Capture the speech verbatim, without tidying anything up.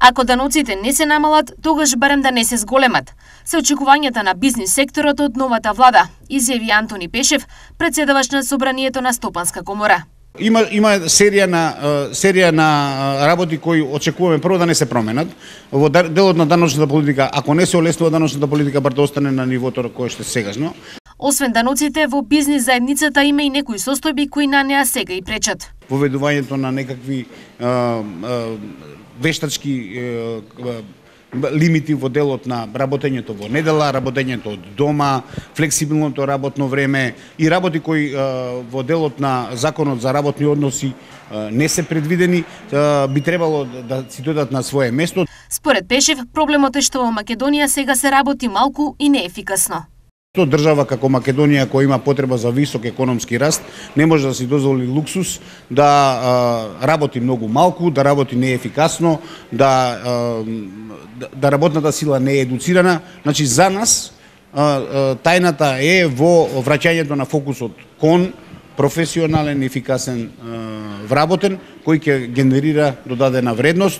Ако даноците не се намалат, тогаш барем да не се зголемат. Се очекувањата на бизнис секторот од новата влада, изјави Антони Пешев, председавач на собранието на Стопанска комора. Има има серија на серија на работи кои очекуваме прво да не се променат. Во делот на даночната политика, ако не се олеснува даночната политика, бар да остане на нивото кое што сегашно. Освен даноците, во бизнис заедницата има и некои состојби кои на неа сега и пречат. Поведувањето на некакви а, а, вештачки а, лимити во делот на работењето во недела, работењето од дома, флексибилното работно време и работи кои а, во делот на Законот за работни односи а, не се предвидени, а, би требало да си дојдат на свое место. Според Пешев, проблемот е што во Македонија сега се работи малку и неефикасно. Тоа држава како Македонија која има потреба за висок економски раст не може да си дозволи луксус да а, работи многу малку, да работи неефикасно, да а, да работната сила не е едуцирана. Значи за нас а, а, тајната е во враќањето на фокусот кон професионален, ефикасен а, вработен кој ќе генерира додадена вредност.